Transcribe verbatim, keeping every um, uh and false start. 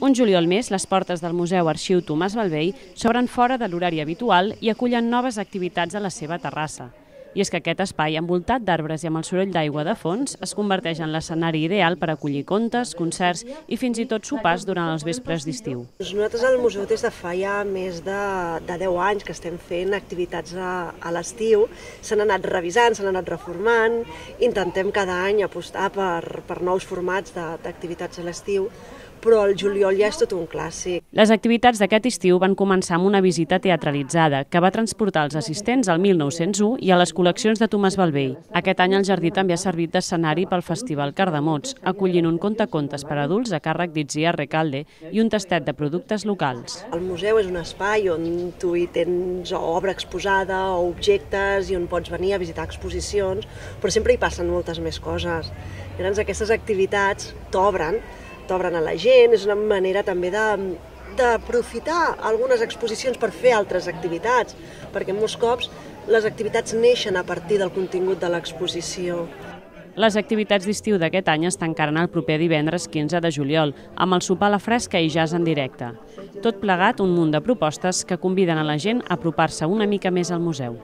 Un juliol més, les portes del Museu Arxiu Tomàs Bellvei s'obren fora de l'horari habitual i acullen noves activitats a la seva terrassa. I és que aquest espai, envoltat d'arbres i amb el soroll d'aigua de fons, es converteix en l'escenari ideal per acollir contes, concerts i fins i tot sopars durant els vespres d'estiu. Nosaltres al museu des de fa ja més de, de deu anys que estem fent activitats a, a l'estiu, s'han anat revisant, s'han anat reformant, intentem cada any apostar per, per nous formats d'activitats a l'estiu, però el juliol ja és tot un clàssic. Les activitats d'aquest estiu van començar amb una visita teatralitzada que va transportar els assistents al mil nou-cents u i a les col·leccions de Tomàs Bellvei. Aquest any el jardí també ha servit d'escenari pel Festival Cardamots, acollint un contacontes per adults a càrrec d'Itziar Recalde i un tastet de productes locals. El museu és un espai on tu hi tens obra exposada o objectes i on pots venir a visitar exposicions, però sempre hi passen moltes més coses. Llavors aquestes activitats t'obren, t'obren a la gent, és una manera també d'aprofitar algunes exposicions per fer altres activitats, perquè molts cops les activitats neixen a partir del contingut de l'exposició. Les activitats d'estiu d'aquest any es tancaran el proper divendres quinze de juliol, amb el sopar a la fresca i jazz en directe. Tot plegat un munt de propostes que conviden a la gent a apropar-se una mica més al museu.